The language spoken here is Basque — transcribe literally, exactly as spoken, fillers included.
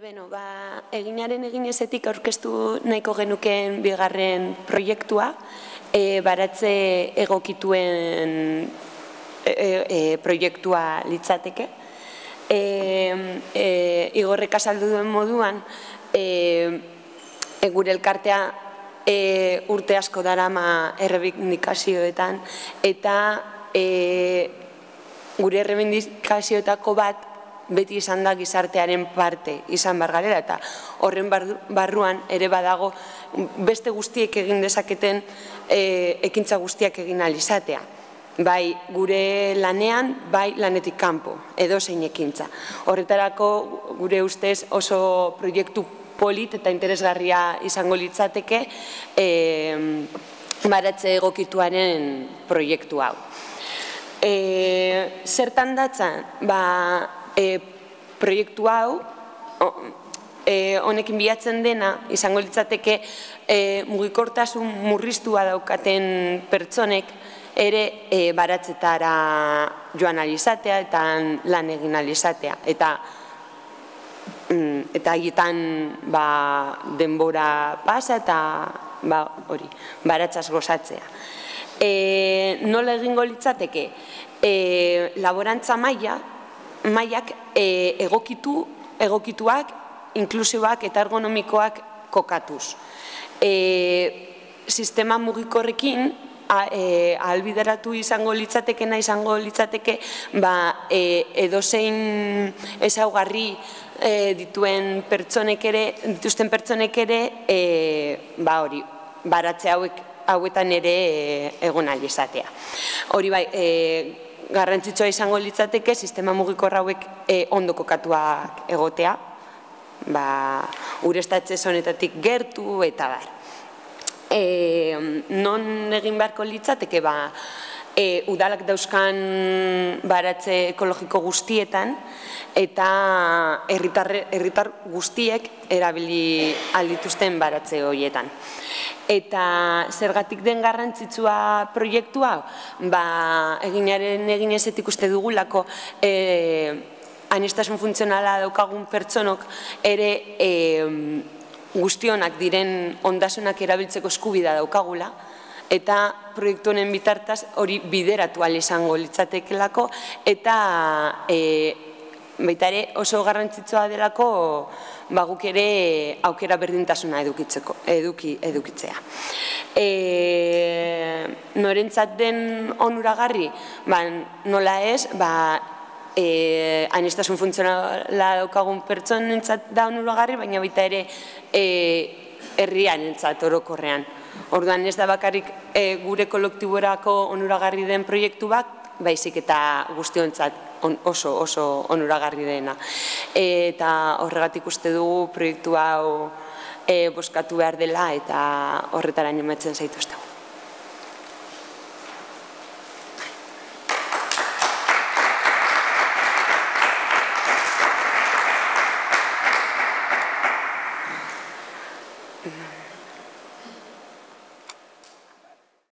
Beno, ba, eginaren eginezetik aurkeztu nahiko genukeen bigarren proiektua, e, baratze egokituen e, e, proiektua litzateke. E, e, Igorrek azaldu duen moduan, e, e, gure elkartea e, urte asko darama errebindikazioetan, eta e, gure errebindikazioetako bat beti izan da gizartearen parte izan bar garela, eta horren barruan ere badago beste guztiek egin dezaketen ekintza guztiak egin ahal izatea. Bai gure lanean, bai lanetik kanpo, edozein ekintza. Horretarako gure ustez oso proiektu polit eta interesgarria izango litzateke baratze egokituaren proiektu hau. Zertan datzan, ba, E, proiektu hau, e, honekin bilatzen dena, izango litzateke e, mugikortasun murriztua daukaten pertsonek ere e, baratzetara joan alizatea eta lan egin alizatea. Eta eta haietan ba, denbora pasa eta ba, hori, baratzaz gozatzea. E, nola egingo litzateke? E, laborantza maila, mailak egokitu, egokituak, inklusiboak eta ergonomikoak kokatuz. Sistema mugikorrekin ahalbideratu izango litzatekena izango litzateke edozein ezaugarri dituen pertsonek ere, dituzten pertsonek ere, ba hori, baratze hauek hauetan ere egon ahal izatea. Hori bai, garrantzitsua izango litzateke sistema mugikor hauek ondo kokatuak egotea, ureztatze zonetatik gertu eta bar. Non egin beharko litzateke, udalak dauzkan baratze ekologiko guztietan eta herritar guztiek erabili aldituzten baratze horietan. Eta zergatik den garrantzitsua proiektua, eginaren eginezetik uste dugulako aniztasun funtzionala daukagun pertsonok ere guztionak diren ondasunak erabiltzeko eskubidea daukagula, eta proiektu honen bitartaz hori bideratu ahal izango litzatekelako, eta baita ere oso garrantzitsua delako guk ere aukera berdintasuna edukitzea. Norentzat den onuragarri, nola ez, aniztasun funtzionala daukagun pertsonentzat da onuragarri, baina baita ere herriarentzat orokorrean. Orduan ez da bakarrik gure kolektiborako onuragarri den proiektu bat, baizik eta guztiontzat oso oso onuragarri dena. Eta horregatik uste dugu proiektu hau bozkatu behar dela eta horretara animatzen zaituztegu.